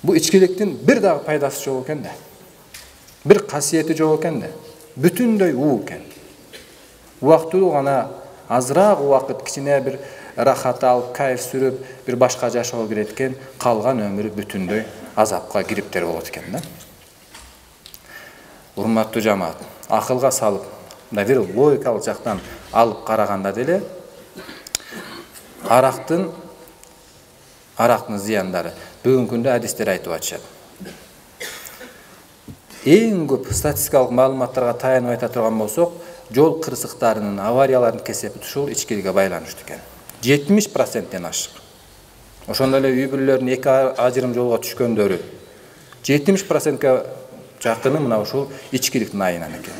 Бул ичкиликтин бир дагы пайдасы жок экен да. Бир касиети жок экен да. Бүтүндөй уу экен. Убактылуу гана азыраак убакыт кичине бир рахат алып, кайф сүрүп, бир башка жашоо кирет экен, калган өмүрү бүтүндөй азапка кириптер болот экен да. Урматтуу жамаат, акылга салып, бир логикалык жактан алып караганда деле арактын зыяндары бүгүнкү күндө адистер айтып атышат. Эң көп статистикалык маалыматтарга таянып айта турган болсок, жол кырсыктарынын, авариялардын кесепи ушул ичкиликке байланыштуу экен. 70%-тен ашык. Ошондой эле үй бүлөлөрдүн эки ажырым жолго түшкөндөрү 70%га жакыны мына ушул ичкиликтин айынан экен.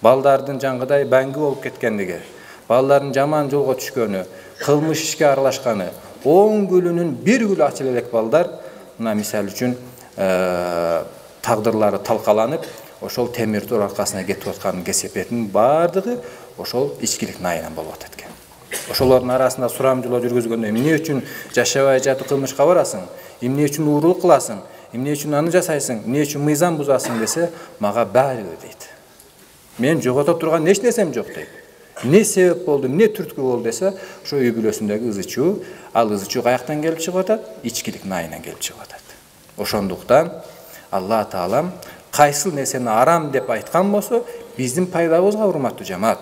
Балдардын жаңгыдай баңгы болуп кеткендиги, балдардын жаман жолго түшкөнү, кылмыш ишке аралашканы, 10 күлүнүн 1 күлү ачыл элек балдар мына мисалы үчүн тагдырлары талкаланып, ошол темир тор аркасына кетип аткан кесепетинин баардыгы ошол ичкиликтин айынан болуп атат экен. Ошолордун арасында сурамжылоо жүргүзгөндө эмне үчүн жашабай жатып кылмышка барасың, эмне үчүн уурулук кыласың, эмне үчүн аны жасайсың, эмне үчүн мыйзам бузасың десе, мага баары бир дейт. Мен жогото турган эч нерсем жок дейт. Не себеп болду, эмне түрткү болду десе, ошо үй бүлөсүндөгү ызы-чуу, ал ызы-чуу каяктан келип чыгып атат? Ичкиликтин айынан келип чыгып атат. Ошондуктан Алла Таалам кайсыл нерсени арам деп айткан болсо, биздин пайдабызга, урматтуу жамаат.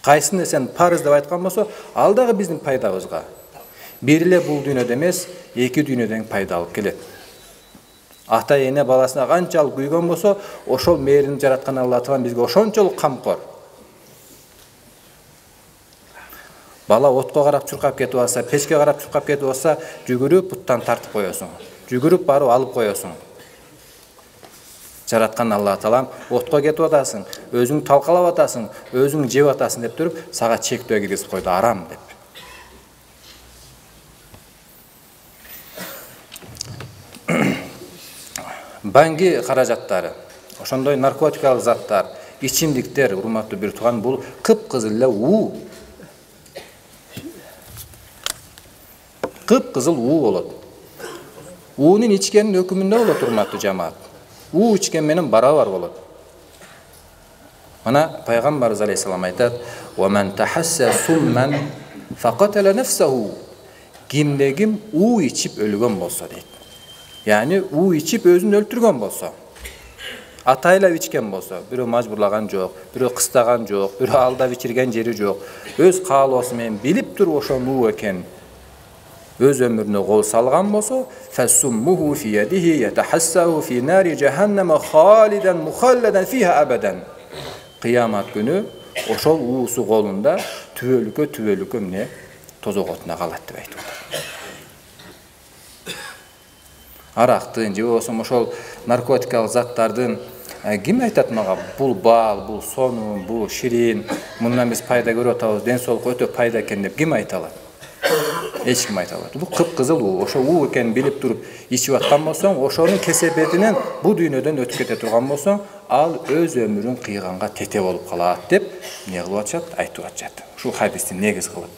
Кайсы нерсени парыз деп айткан болсо, ал дагы биздин пайдабызга. Бир эле бул дүйнөдө эмес, эки дүйнөдөн пайда алып келет. Ата эне баласына канчалык күйгөн болсо, ошол мээрин жараткан Алла Таалам бизге ошончолук камкор. Бала отко карап чуркап кетип алса, печке карап чуркап кетип алса, жүгүрүп буттан тартып коесуң. Жүгүрүп барып алып коесуң. Жараткан Алла Таалам отко кетип атасың, өзүң талкалап атасың, өзүң жеп атасың деп туруп, сага чектөө киргизип койду, арам деп. Банги каражаттары, ошондой наркотикалык заттар, ичимдиктер, урматтуу бир тууган, бул кыпкызыл эле уу. Кыпкызыл уу болот. Уунун ичкенин өкүмүндө болот, урматтуу жамаат. У ичкен менен барабар болот. Мана пайгамбарыбыз алейхиссалам айтат: "Ва ман тахасса сумман фaqatala nafsuhu." Кимде ким у ичип өлгөн болсо дейт. Яни у ичип өзүн өлтүргөн болсо, атайлап ичкен болсо, бирөө мажбурлаган жок, бирөө кыстаган жок, бирөө алдап ичирген жери жок, өз каалоосу менен билип туруп ошону у экен өз өмүрүнө кол салган болсо, фасуммуху фи ядихи ятахассаху фи нари жаханнама халидан мухалладан фиха абадан. Кыямат күнү ошол уусу колунда түбөлүккө эмне тозок отуна калат деп айтып атат. Арактын же болбосо ошол наркотикалык заттардын ким айтат мага, бул баал, бул сонун, бул ширин, мындан биз пайда көрүп атабыз, ден соолукка өтө пайда экен деп ким айта алат? Эч ким айта алат. Бул кыпкызыл уу. Ошо уу экенин билип туруп ичип аткан болсоң, ошонун кесепетинен бул дүйнөдөн өтүп кете турган болсоң, ал өз өмүрүн кыйганга тете болуп калат деп эмне кылып атышат? Айтып атышат. Ушул хадисти негиз кылып.